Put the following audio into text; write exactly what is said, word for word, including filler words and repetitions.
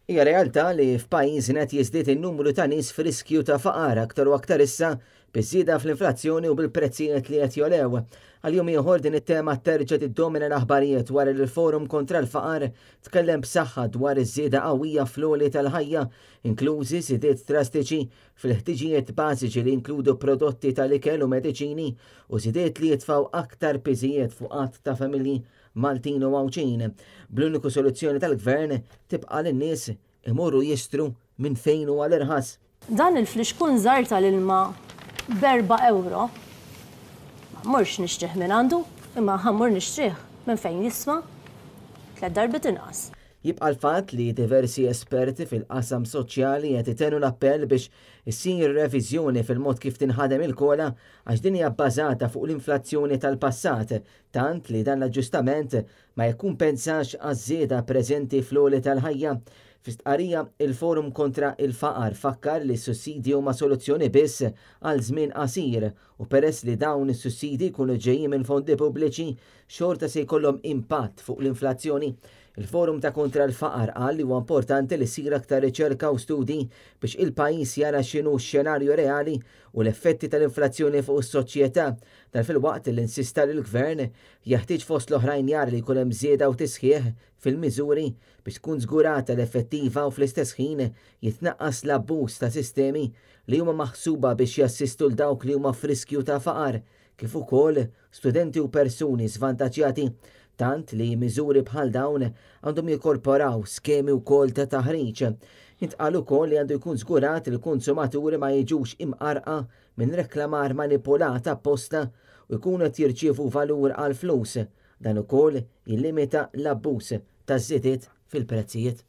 Hija realtà li f'pajjiżna qed jiżdied in-numru ta' nies f'riskju ta' faqar aktar u aktar issa biż-żieda fl-inflazzjoni u bil-prezzijiet li qed jogħlew. Għal jum ieħor din it-tema terġa' tiddomina l-aħbarijiet wara li l-Forum kontra l-Faqar tkellem b'saħħa dwar iż-żieda qawwija fl-għoli tal-ħajja, inklużi żidiet drastiċi fil-ħtiġijiet bażiċi li jinkludu prodotti tal-ikel u mediċini u żidiet li jitfgħu aktar piżijiet fuq għadd ta' familji Maltin u Għawdxin. Bl-uniku soluzzjoni tal-gvern tibqa' lin-nies imorru jixtru minn fejn huwa l-irħas. Dan il-flixkun żgħir tal-ilma b'erba' ewro, ma mmurx nixtrih minn għandu, imma ħa mmur nixtrih minn fejn jiswa tliet darbiet inqas. Jibqa' l-fatt li diversi esperti fil-qasam soċjali qed itennu l-appell biex issir reviżjoni fil-mod kif tinħadem il-COLA, għax din hija bbażata fuq l-inflazzjoni tal-passat, tant li dan l-aġġustament ma jikkumpensax għaż-żieda preżenti fl-għoli tal-ħajja. Fi stqarrija, il-Forum kontra il-Faqar fakkar li s-sussidji huma soluzzjoni biss għal żmien qasir u peress li dawn is-sussidji jkunu ġejjin minn fondi pubbliċi, xorta se jkollhom impatt fuq l-inflazzjoni. Il-Forum ta' kontra l-Faqar qal li huwa importanti li ssir aktar riċerka u studi biex il-pajjiż jara x'inhu x-xenarju reali u l-effetti tal-inflazzjoni fuq is-soċjetà. Dan filwaqt li insista li l-gvern jeħtieġ fost l-oħrajn jara li jkun hemm żieda u tisħiħ fil-miżuri biex tkun żgurata l-effettiva u fl-istess ħin jitnaqqas l-abbuż ta' sistemi li huma maħsuba biex jassistu l dawk li huma f'riskju ta' faqar, kif ukoll studenti u persuni svantaġġjati, tant li miżuri bħal dawn għandhom jikkorporaw skemi wkoll ta' taħriġ. Intqal ukoll li għandu jkun żgurat li l-konsumaturi ma jiġux imqarqa minn reklamar manipulat apposta u jkunu qed jirċievu valur għal flus. Dan ukoll jillimita l-abbuż taż-żidiet fil-prezzijiet.